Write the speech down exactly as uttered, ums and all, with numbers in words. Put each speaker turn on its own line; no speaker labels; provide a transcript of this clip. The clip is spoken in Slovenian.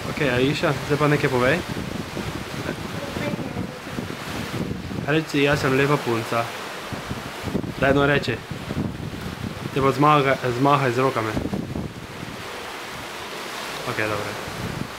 Ok, Aisha, zdaj pa nekaj povej. Reci, jaz sem lepa punca. Daj no reči. Te pa zmahaj z rokami. Ok, dobro.